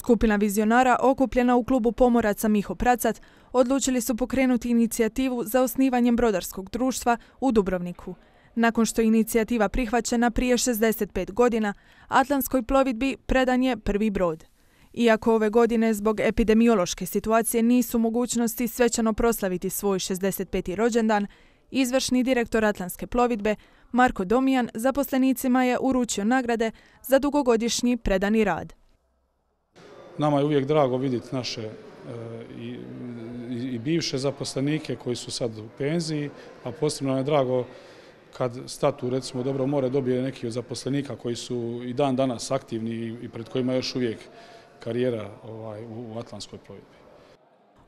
Skupina vizionara okupljena u klubu pomoraca Miho Pracat odlučili su pokrenuti inicijativu za osnivanjem brodarskog društva u Dubrovniku. Nakon što je inicijativa prihvaćena prije 65 godina, Atlantskoj plovidbi predan je prvi brod. Iako ove godine zbog epidemiološke situacije nisu mogućnosti svečano proslaviti svoj 65. rođendan, izvršni direktor Atlantske plovidbe Marko Domijan zaposlenicima je uručio nagrade za dugogodišnji predani rad. Nama je uvijek drago vidjeti naše i bivše zaposlenike koji su sad u penziji, a posebno je drago kad statu, recimo, Dobro more dobije neki od zaposlenika koji su i dan danas aktivni i pred kojima je još uvijek karijera u Atlantskoj plovidbi.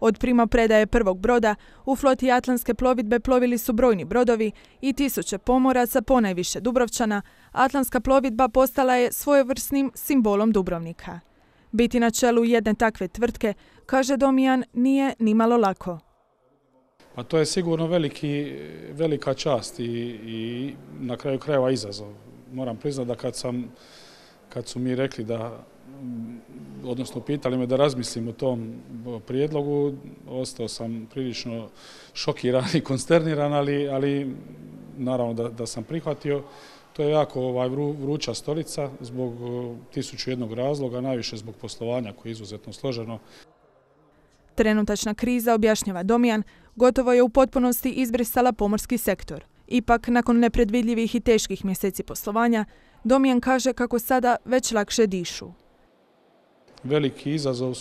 Od primopredaje prvog broda u floti Atlantske plovidbe plovili su brojni brodovi i tisuće pomoraca, ponajviše Dubrovčana. Atlantska plovidba postala je svojevrsnim simbolom Dubrovnika. Biti na čelu jedne takve tvrtke, kaže Domijan, nije nimalo lako. A to je sigurno velika čast i na kraju krajeva izazov. Moram priznati da kad su mi rekli odnosno pitali me da razmislim o tom prijedlogu, ostao sam prilično šokiran i konsterniran, ali naravno da sam prihvatio. To je jako vruća stolica zbog 1001 razloga, najviše zbog poslovanja koje je izuzetno složeno. Trenutačna kriza, objašnjava Domijan, gotovo je u potpunosti izbrisala pomorski sektor. Ipak, nakon nepredvidljivih i teških mjeseci poslovanja, Domijan kaže kako sada već lakše dišu. Veliki izazov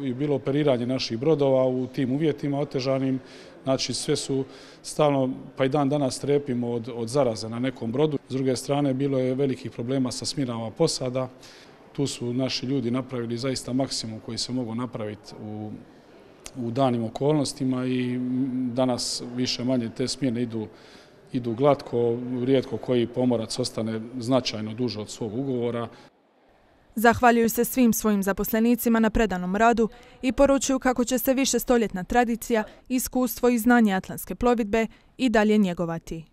je bilo operiranje naših brodova u tim uvjetima otežanim. Znači, sve su stalno, pa i dan danas strepimo od zaraze na nekom brodu. S druge strane, bilo je velikih problema sa smjenama posada. Tu su naši ljudi napravili zaista maksimum koji se mogu napraviti u danim okolnostima i danas više manje te smjene idu glatko, rijetko koji pomorac ostane značajno duže od svog ugovora. Zahvaljuju se svim svojim zaposlenicima na predanom radu i poručuju kako će se višestoljetna tradicija, iskustvo i znanje Atlantske plovidbe i dalje njegovati.